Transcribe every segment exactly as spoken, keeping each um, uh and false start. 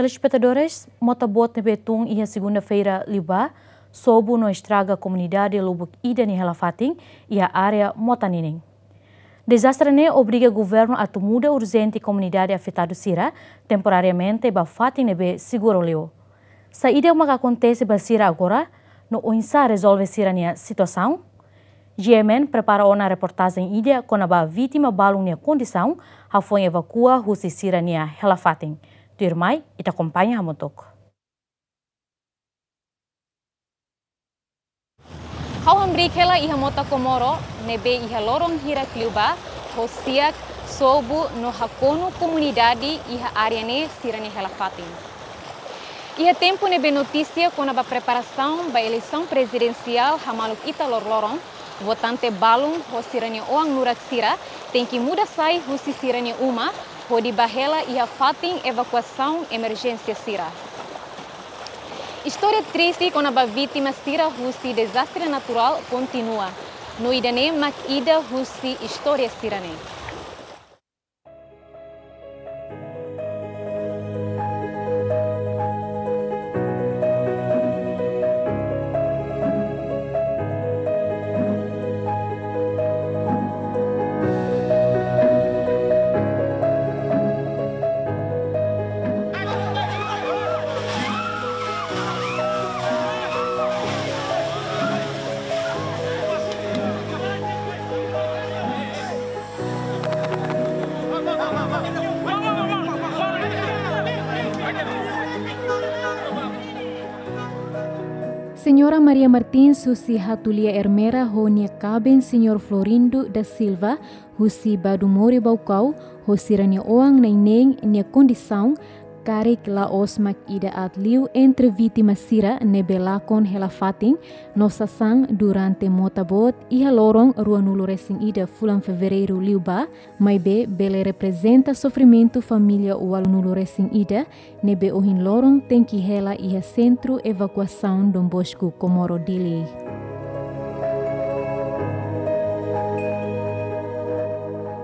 Telespetadores, mota boot ne'ebé tun iha segunda-feira liubá, sobu no estraga komunidade lubuk ida nia hela-fatin iha área mota ninin. Dezastre ne'e obriga governu atu muda urjente komunidade afetadu sira temporariamente ba fatin ne'ebé seguru liu. Saida maka akontese ba sira agora, no oinsá rezolve sira-nia situasaun? G M N prepara ona reportajen ida kona-ba vítima balun nia kondisaun hafoin evakua husi sira-nia hela-fatin. Tuirmai, ita akompaña hamutuk. Ha'u hamriik hela iha mota Comoro, ne'ebé iha loron hirak liubá, hosiak, sobu no hakonu komunidade iha área ne'e sira-nia hela-fatin. Iha tempu ne'ebé notísia kona-ba preparasaun ba eleisaun prezidensiál hamaluk ita loroloron, votante balun ho sira-nia oan nurak sira tenke muda sai husi sira-nia uma, hodi bá hela iha fatin evakuasaun emerjénsia sira. Istória triste kona-ba vítima sira husi dezastre naturál kontinua. No ida-ne'e mak ida husi istória sira-ne'e. Señora Maria Martins husi Hatulia Ermera ho nia kaben Señór Florindo da Silva husi Badumori Baucau, ho sira-nia oan na'in neen nia kondisaun karik la'ós mak ida aat liu entre vítima sira ne'ebé lakon hela-fatin no sasán durante mota boot iha loron ruanulu-resin-ida fulan Fevereiru liubá, maibé bele reprezenta sofrimentu família ualunulu-resin-ida ne'ebé ohin loron tenke hela iha Sentru Evakuasaun Don Bosco Comoro Dili.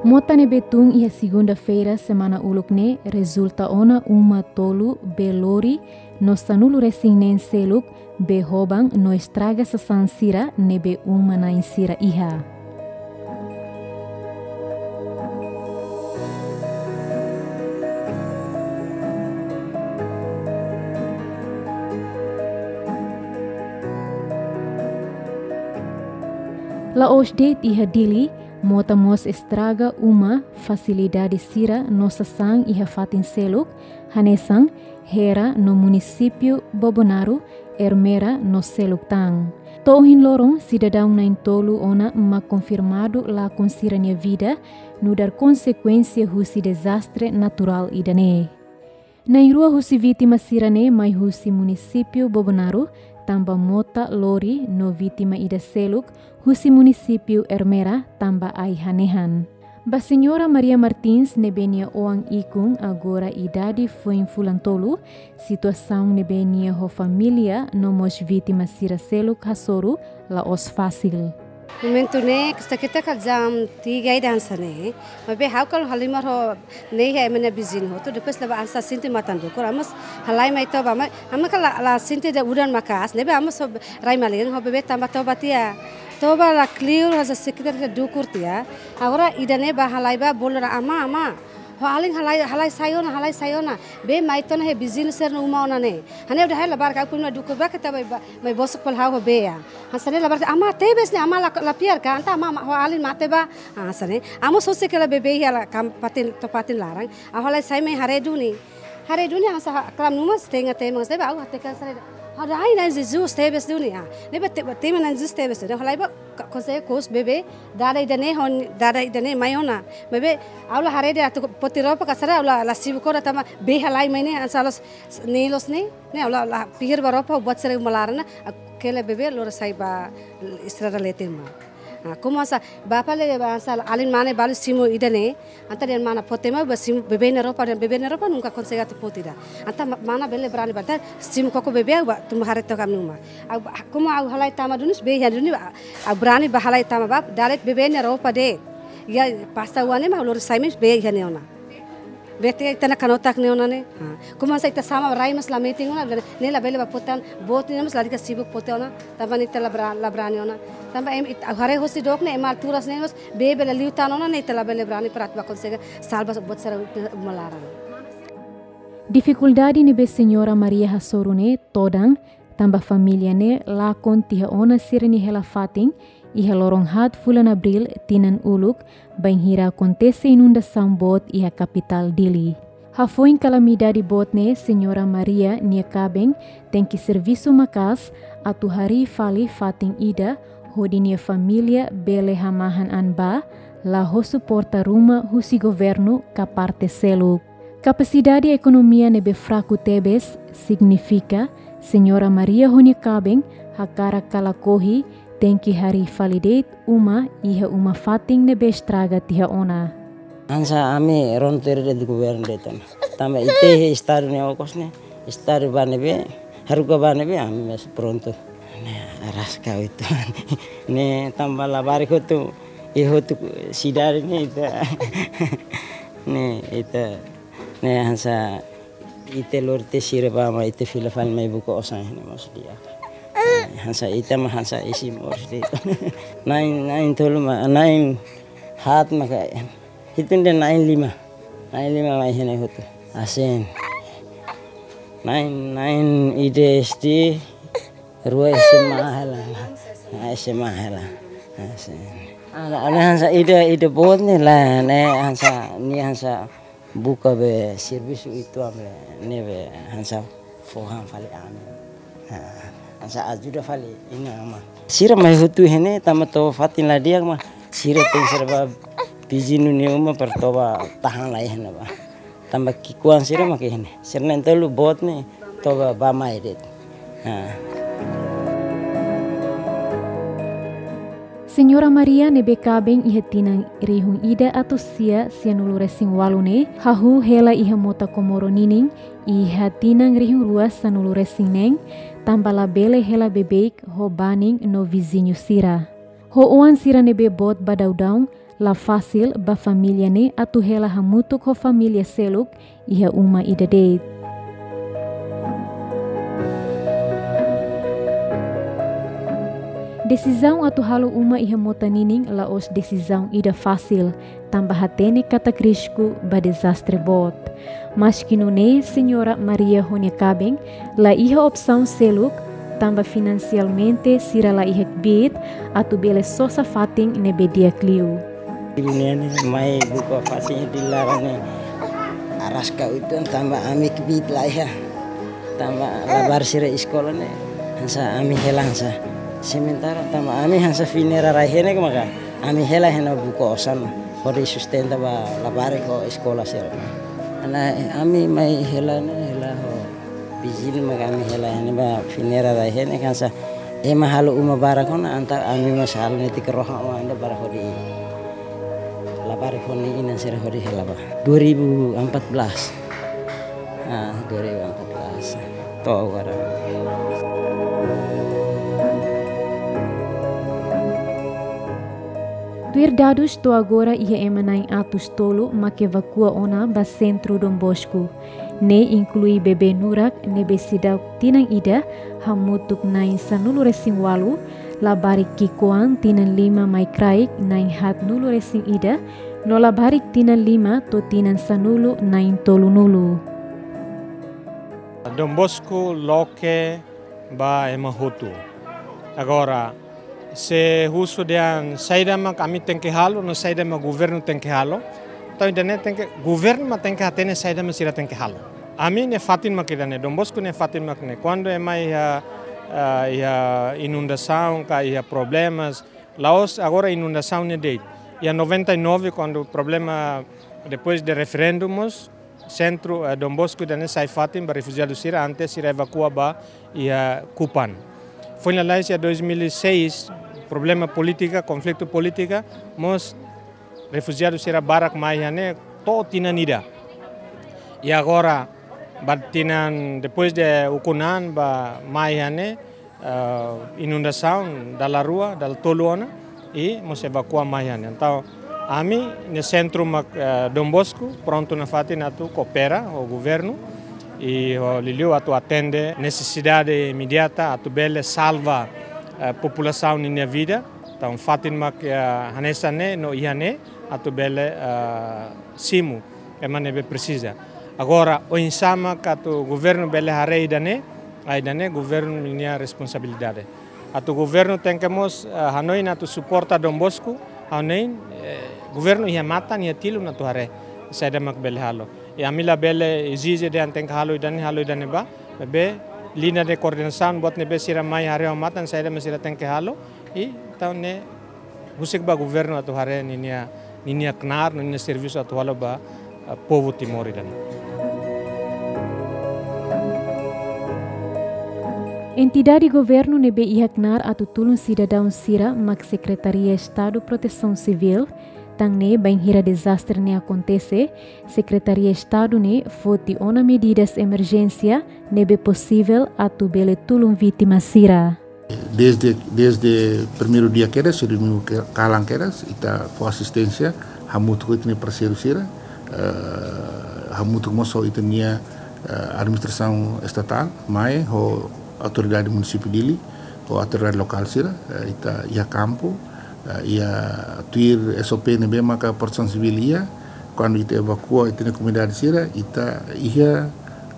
Mota ne'ebé tun iha segunda-feira semana uluk ne'e rezulta ona uma tolu bee lori no sanulu-resin-neen seluk bee hoban no estraga sasán sira ne'ebé uma-na'in sira iha. La'ós de'it iha Dili, mota mós estraga uma, fasilidade sira no sasán iha fatin seluk, hanesan Hera no munisípiu Bobonaro, Ermera no seluk tan. To'o ohin loron, sidadaun na'in-tolu ona mak konfirmadu lakon sira-nia vida, nu'udar konsekuénsia husi dezastre naturál ida-ne'e. Na'in-rua husi vítima sira-ne'e mai husi munisípiu Bobonaro, tanba mota lori no vítima ida seluk husi munisípiu Ermera, tanba ai-hanehan. Ba Señora Maria Martins ne'ebé nia oan ikun agora idade foin fulan tolu, situasaun ne'ebé nia ho família no mós vítima sira seluk hasoru la'ós fasil. Momentu ne'e, kusta kita ka jam tiga ida hanesan ne'e. Maibé ha'u kala halimar ho ne'e iha ema nia viziñu hotu, depois leba hanesan sente matan dukur, ami mós halai mai toba, mai, ami kala la sente dehan udan maka'as, ne'ebé ami mós rai malirin ho bebé tanba toba tiha. Toba la kleur, hanesan sekitar ita dukur tiha. Agora ida-ne'e bá halai bá bolu dehan ama, ama. Ho alin halai, halai sai ona, halai sai ona. Bee mai tiha ona iha viziñu sira-nia uma ona ne'e. Hanesan ha'u dehan labarik ha'u pun mai dukur bá keta mai, mai bosok fali ha'u ho bee. Hanesan ne'e labarik ama tebes ne'e ama la, la fiar ka, entaun ama, ama ho alin mate bá. Ah, hanesan ne'e. Ami mós husik hela bebé iha la kam fatin, to'o fatin laran. Ha'u halai sai mai haree duni. Haree duni hanesan ha-, kalan uma setengah temi hanesan ne'e bá ha'u hateke hanesan ne'e. Ha'u dehan ai Na'i Jesus tebes duni ah. Ne'ebé te-, temi Na'i Jesus tebes duni. Halai bá ka-, konsege kous bebé dada ida-ne'e ho dada ida-ne'e mai ona. Maibé ha'u la haree de'it atu foti roupa ka saida, ha'u la, la simu kona tanba bee halai mai ne'e hanesan loos, ne'e loos ne'e. Ne'e ha'u la, la pihir ba roupa, buat sira uma laran ne'e, ha'u kele bebé lori sai ba estrada leten bá. Ah, komu hanesan bapa le hanesan alin mane balu simu ida-ne'e, entaun dehan mana foti mai bá simu bebé nia roupa, dehan bebé nia roupa nunka konsege atu foti ida. Entaun ma-, mana bele brani bá, entaun simu koko bebé bá tun bá haree to'o ami-nia uma. Ha'u bá, komu ha'u halai tama duni, bee iha duni bá, ha'u brani bá halai tama bá, dala ida bebé nia roupa de'it. Iha pasta oan ne'e mak lori sai mai bee iha ne'e ona. Bete ita-nia kanotak ne'e ona ne'e. Ha. Komu hanesan ita sama rai mós la metin ona, ne'e labele bá pote an, boot ne'e mós lalika sibuk pote ona, tanba ne'e ita la bra-, la brani ona. Tanba ema ita, haree hosi dook ne'e, ema alturas ne'e mós, bee bele liu tan ona ne'e ita labele brani para atu bá konsege salva buat sira uma laran. Difikuldade ne'ebé Señora Maria hasoru ne'e todan, tanba família ne'e lakon tiha ona sira-nia hela-fatin iha loron haat fulan Abríl tinan uluk, bainhira akontese inundasaun boot iha kapitál Dili. Hafoin kalamidade boot ne'e, Señora Maria nia kaben tenke servisu maka'as atu harii fali fatin ida hodi nia família bele hamahan an bá, la ho suporta ruma husi governu ka parte seluk. Kapasidade ekonomia ne'ebé fraku tebes signifika Señora Maria ho nia kaben hakarak ka lakohi tenke harii fali de'it uma iha uma-fatin ne'ebé estraga tiha ona. Hanesan ami rona tuir de'it governu de'it ona. Tanba ita iha estadu ne'e okos ne'e, estadu bá ne'ebé, haruka bá ne'ebé, ami mós prontu. Ne'e araska uitoan. Ne'e tanba labarik hotu, iha hotu sidade ne'e ita. Ne'e ita, ne'e hanesan ita lori tiha sira bá mai ita fila fali mai buka osan iha ne'e mós di'ak. Hanesan ita mak hanesan isin moris de'it. Na'in, na'in tolu mak, na'in haat maka, hitung dehan na'in lima. Na'in lima mai iha ne'e hotu. Asin. Na'in, na'in ida S D, rua S M A hela. Ah, S M A hela. Asin. Ana, ana hanesan ida, ida boot ne'e lae, ne'e hanesan, nia hanesan buka be servisu uitoan be, ne'ebé hanesan fó han fali ami. Ha, hanesan ajuda fali inan-aman. Sira mai hotu iha ne'e tanba toba fatin la di'ak mak. Sira tenke sira bá viziñu nia uma para toba tahan lai iha ne'ebá. Tanba ki'ikoan sira mak iha ne'e. Sira na'in tolu boot ne'e toba bá mai de'it. Ha. Señora Maria ne'ebé kaben iha tinan rihun ida atus sia sianulu-resin-ualu ne'e, hahú hela iha mota Komoro ninin iha tinan rihun rua sanulu-resin-neen, tanba labele hela beibeik ho banin no viziñu sira. Ho oan sira ne'ebé boot ba daudaun, la fasil ba família ne'e atu hela hamutuk ho família seluk iha uma ida de'it. Desizaun atu halo uma iha mota ninin la'ós desizaun ida fasil, tanba hatene katak risku ba dezastre boot. Maski nune'e, Señora Maria ho nia kaben la iha opsaun seluk, tanba finansialmente sira la iha kbiit atu bele sosa fatin ne'ebé di'ak liu. Ne'e mai buka fatin di laran ne'e araska uitoan tanba ami kbiit la iha. Tanba labarik sira eskola ne'e hanesan ami hela hanesan. Sementara tanba ami hanesan fineira rai-henek maka ami hela iha ne'e buka osan hodi sustenta ba labarik ho eskola sira. Ana ami mai hela ne'e hela ho viziñu maka ami hela iha ne'e ba fineira rai-henek hanesan ema halo uma barak ona entaun ami mós halo netik rohan uma ida barak hodi labarik ho nia inan sira hodi hela ba. Dua ribu empat belas. Ah, dua ribu empat belas. To'o agora. Tuir dadus, to'o agora iha ema na'in atus tolu mak evakua ona ba sentru Don Bosco. Ne'e inklui bebé nurak ne'ebé seidauk tinan ida, hamutuk na'in sanulu-resin-ualu, labarik ki'ikoan tinan lima mai kraik na'in haatnulu-resin-ida, no labarik tinan lima to'o tinan sanulu na'in tolunulu. Don Bosco loke ba ema hotu. Agora, se husu dehan saida mak ami tenke halo, no saida mak governu tenke halo. Entaun ida-ne'e tenke, governu mak tenke hatene saida mak sira tenke halo. Ami-nia fatin mak ida-ne'e, Don Bosco nia fatin mak ne'e. Kuandu ema iha, ah, iha inundasaun, ka iha problemas, la'ós agora inundasaun ne'e de'it. Iha noventa e nove, kuandu problema, depois de referendu mós, sentru, eh, Don Bosco ida-ne'e sai fatin ba refujiadu sira antes sira evakua ba iha Kupang. Foin lalais iha dois mil e seis, problema polítika, konflitu polítika, mós refujiadu sira barak mai iha ne'e to'o tinan ida. I agora, ba tinan, depois de ukun-an ba mai iha ne'e, eh, inundasaun dala rua, dala tolu ona, i mós evakua mai iha ne'e. Entaun, Ami, iha sentru mak, eh, Don Bosco, prontu nafatin atu koopera ho governu, i ho liuliu atu atende nesesidade imediata atu bele salva, eh, populasaun ninia vida. Entaun, fatin mak, eh, hanesan ne'e, no iha ne'e, atu bele, eh, simu ema ne'ebé presiza. Agora, oinsá mak atu governu bele haree ida-ne'e, ah, ida-ne'e governu ninia responsabilidade. Atu governu tenke mós, eh, hanoin atu suporta Don Bosco, hanoin, eh, governu iha matan, iha tilun atu haree saida mak bele halo. I ami labele ezije dehan tenke halo ida-ne'e, halo ida-ne'ebá, maibé liña de koordenasaun buat ne'ebé sira mai haree ho matan saida mak sira tenke halo, i entaun ne'e husik ba governu atu haree ninia, ninia knaar, ninia servisu atu halo ba, eh, povu Timor ida-ne'e. Entidade governu ne'ebé iha knaar atu tulun sidadaun sira mak Sekretaria Estadu Protesaun Sivíl, tan ne'e bainhira dezastre ne'e akontese, Sekretaria Estadu ne'e foti ona medidas emerjénsia ne'ebé posivel atu bele tulun vítima sira. Desde, desde primeiru dia kedas, se domingu ke-, kalan kedas, ita fó asisténsia hamutuk ho ita-nia parseiru sira, eh, hamutuk mós ho ita-nia, eh, administrasaun estatál, MAE, ho autoridade munisípiu Dili, ho autoridade lokál sira, eh, ita iha kampu, eh, iha tuir S O P ne'ebé maka Protesaun Sivíl iha, kuandu ita evakua ita-nia komunidade sira, ita iha,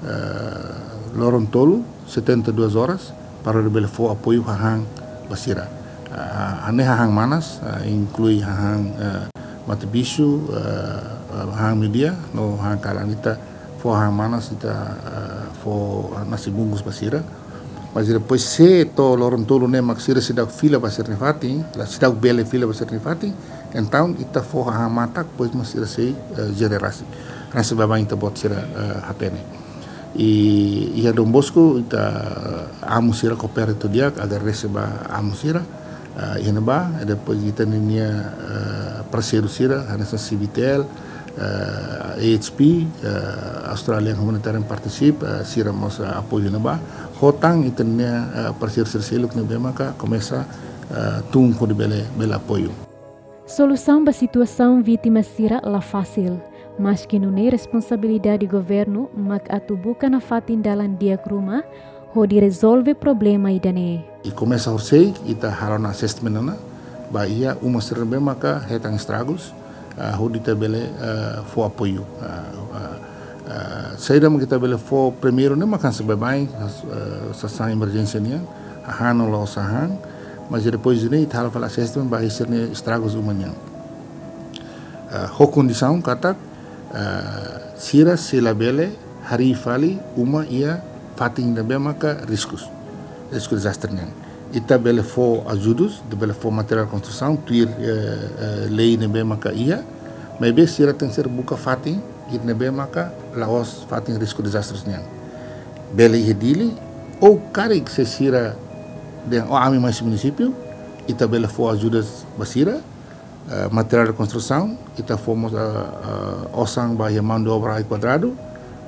eh, loron tolu, setenta e duas horas, para bele fó apoiu hahán ba sira. Ah, hanesan hahán manas, ah, inklui hahán, eh, mate-bisu, eh, eh, hahán meiudia, no hahán kalan, ita fó hahán manas, ita, eh, fó nasi bungkus ba sira. Mas depois se to'o loron tolu ne'e mak sira seidauk fila ba sira-nia fatin, la seidauk bele fila ba sira-nia fatin, entaun ita fó hahán matak, depois mak sira sei, eh, jenerasi. Hanesan baibain ita-boot sira, eh, hatene. I iha Don Bosco, ita, eh, amu sira koopera to'o di'ak, agradese ba amu sira, eh, iha ne'ebá, i depois ita ninia, eh, parseiru sira, hanesan C B T L, eh, A H P, eh, Australian Humanitarian Partnership, eh, sira mós, eh, apoiu ne'ebá. Ho tan ita ninia, eh, parseiru sira seluk ne'ebé maka komesa, eh, tun hodi bele, bele apoiu. Solusaun ba situasaun vítima sira la fasil, maski nune'e responsabilidade governu mak atu buka nafatin dalan di'ak ruma hodi rezolve problema ida-ne'e. I komesa horisehik, ita halo ona assessment ona, ba iha uma sira ne'ebé maka hetan estragus, ah, hodi ita bele, ah, fó apoiu. Ah, ah, ah, saida mak ita bele fó primeiru ne'e mak hanesan baibain, ah, sasán emerjénsia nian, hahán no la'ós hahán, mas depois ne'e ita halo fali assessment ba iha sira-nia estragus uma nian. Ah, ho kondisaun katak, ah, sira sei labele harii fali uma iha fatin ne'ebé maka riskus, risku dezastre nian. Ita bele fó ajudus, ita bele fó materiál konstrusaun, tuir, eh, eh, lei ne'ebé maka iha, maibé sira tenke ser buka fatin, ida ne'ebé maka la'ós fatin risku dezastre nian. Bele iha Dili, ou karik se sira dehan, "Oh, ami mai husi munisípiu", ita bele fó ajudas ba sira, eh, materiál konstrusaun, ita fó mós, eh, eh, osan ba iha mão de obra ai kuadradu,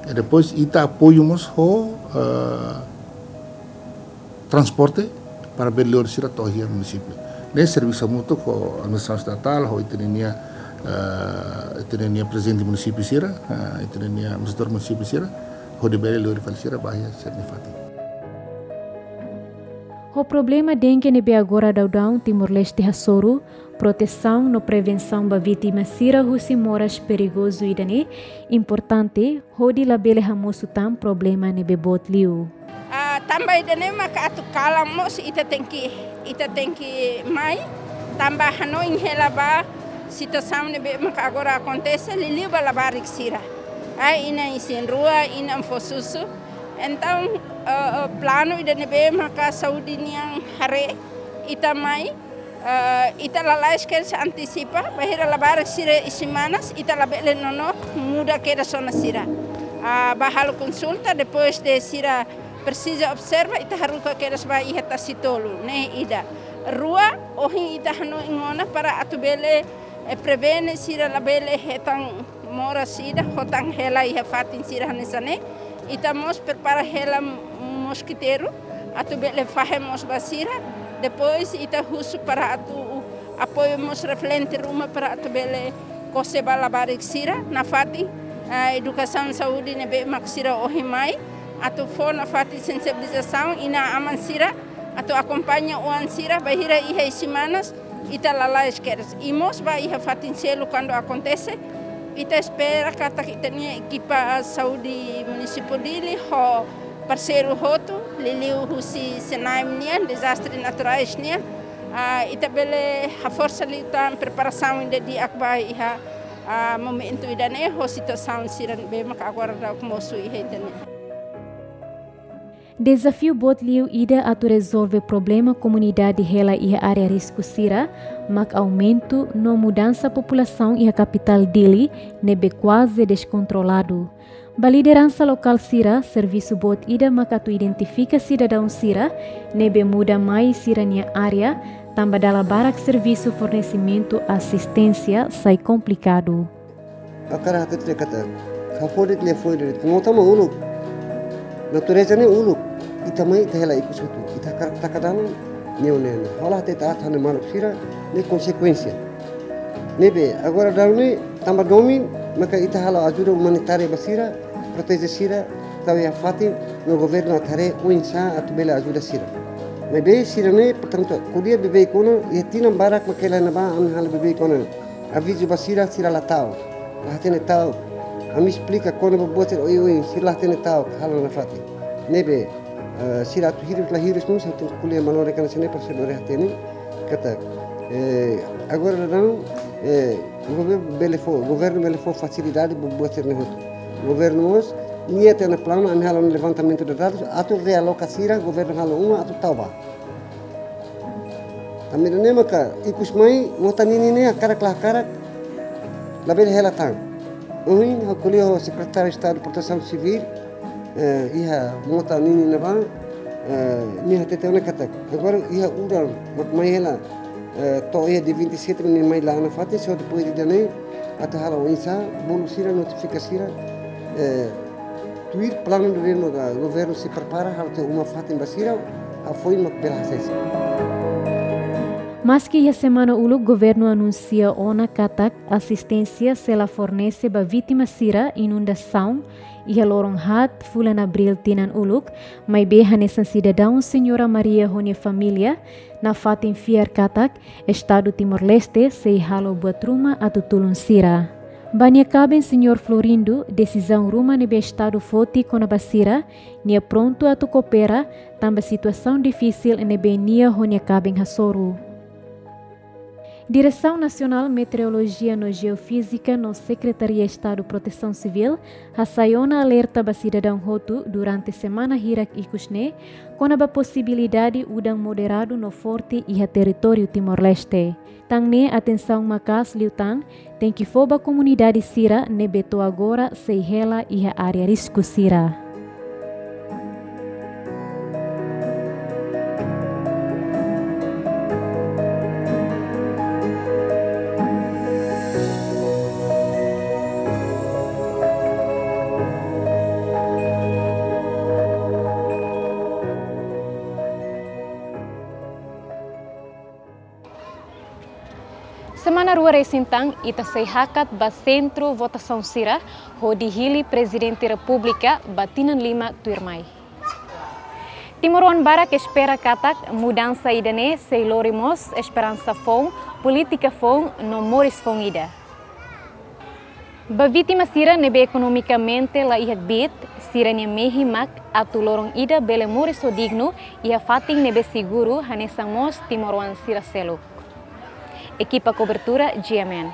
i depois ita apoiu mós ho, eh, transporte para bele lori sira to'o iha munisípiu. Ne'e servisu hamutuk ho administrasaun estatál, ho ita ninia, eh, ita ninia prezidente munisípiu sira, eh, ita ninia administradór munisípiu sira, hodi bele lori fali sira ba iha sira-nia fatin. Ho problema dengue ne'ebé agora daudaun Timor-Leste hasoru, protesaun no prevensaun ba vítima sira husi moras perigozu ida-ne'e importante hodi labele hamosu tan problema ne'ebé boot liu. Ah, tanba ida-ne'e maka atu kalan mós ita tenke, ita tenke mai, tanba hanoin hela ba situasaun ne'ebé maka agora akontese, liuliu ba labarik sira. Ah, inan isin-rua, inan fó susu. Entaun, eh, eh, planu ida ne'ebé maka saúde nian haree, ita mai, eh, ita lalais kedas antisipa, bainhira labarik sira isin-manas, ita labele nonook, muda kedas ona sira. Ah, bá halo konsulta, depois de sira presiza observa, ita haruka kedas ba iha tasi tolu, ne'e ida. Rua, ohin ita hanoin ona para atu bele, eh, prevene sira labele hetan moras ida, ho tan hela iha fatin sira hanesan ne'e. Ita mós prepara hela moskiteiru, atu bele fahe mós ba sira. Depois ita husu para atu Apoiu mós referente ruma para atu bele kose ba labarik sira nafatin, ah, edukasaun saúde ne'ebé mak sira ohin mai, atu fó nafatin sensibilizasaun inan-aman sira, atu akompaña oan sira, bainhira iha ai-semanas, ita lalais kedas. I mós ba iha fatin seluk kuandu akontese, ita espera katak ita-nia ekipa saúde munisípiu Dili ho parseiru hotu, liuliu husi SENAEM nian, dezastre naturais nian, ah, ita bele haforsa liután preparasaun ida di'ak ba iha, ah, momentu ida-ne'e ho situasaun sira ne'ebé maka agora daudaun mosu iha ita-nia. Dezafiu boot liu ida atu rezolve problema komunidade hela iha área risku sira, mak aumentu no mudansa populasaun iha kapitál Dili ne'ebé kuaze deskontroladu. Ba lideransa lokál sira, servisu boot ida mak atu identifika sidadaun sira ne'ebé muda mai sira-nia área, tanba dala barak servisu fornesimentu asisténsia sai komplikadu. Hakarak hatete katak, hafodik liafuan de'it, mota mak uluk. Natureza ne'e uluk. Ita mai, ita hela ikus hotu. Ita hakarak taka dalan, ne'e ne'e. Ha'u la hatete aat ha'u-nia maluk sira, ne'e konsekuénsia. Ne'ebé, agora daudaun ne'e, tanba domin, maka ita halo ajuda umanitária ba sira, proteje sira, tau iha fatin, no governu atu haree oinsá atu bele ajuda sira. Maibé sira ne'e, portantu, ko'alia beibeik ona, iha tinan barak mak hela ne'ebá, ami halo beibeik ona. Avizu ba sira, sira la ta'uk. La hatene ta'uk. Ami esplika kona-ba buat sira oioin, sira la hatene ta'uk, halo nafatin. Ne'ebé, eh, sira atu hirus la hirus mós, atu ko'alia manorin hanesan ne'e para sira bele hatene. Katak, eh, agora daudaun, eh, governu bele fó, governu bele fó fasilidade ba buat sira-ne'e hotu. Governu mós, nia iha planu, ami halo levantamentu de dadus, atu realoka sira, governu halo uma, atu tau ba. Tanba ida-ne'e maka ikus mai mota ninin ne'e hakarak la hakarak labele hela tan. Ohin ha'u ko'alia ho Sekretáriu Estadu Protesaun Sivíl, eh, iha mota ninin ne'ebá, eh, nia hatete ona katak. Agora iha udan mak mai hela, eh, to'o iha dia vinte e sete nia mai la nafatin, só depois ida-ne'e atu halo oinsá, bolu sira, notifika sira, eh, tuir planu ida-ne'ebé governu sei prepara, halo tiha uma fatin ba sira, hafoin mak bele hasai sira. Maski iha semana uluk governu anunsia ona katak asisténsia sei la fornese ba vítima sira inundasaun iha loron haat fulan Abríl tinan uluk, maibé hanesan sidadaun Señora Maria ho nia família, nafatin fiar katak Estadu Timor-Leste sei halo buat ruma atu tulun sira. Ba nia kaben Señór Florindo, desizaun ruma ne'ebé Estadu foti kona-ba sira, nia prontu atu koopera, tanba situasaun difisil ne'ebé nia ho nia kaben hasoru. Diresaun Nasionál Meteorolojia no Jeofízika no Sekretaria Estadu Protesaun Sivíl hasai ona alerta ba sidadaun hotu durante semana hirak ikus ne'e, kona-ba posibilidade udan moderadu no forte iha territóriu Timor-Leste. Tan ne'e atensaun maka'as liután tenke fó ba komunidade sira ne'ebé to'o agora sei hela iha área risku sira. Semana rua resin tan ita sei hakat ba sentru votasaun sira hodi hili Prezidente Repúblika ba tinan lima tuirmai. Timoroan barak espera katak mudansa ida-ne'e sei lori mós esperansa foun, polítika foun no moris foun ida. Ba vítima sira ne'ebé ekonomikamente la iha kbiit, sira-nia mehi mak atu loron ida bele moris ho dignu iha fatin ne'ebé seguru hanesan mós timoroan sira seluk. Ekipa kobertura G M N.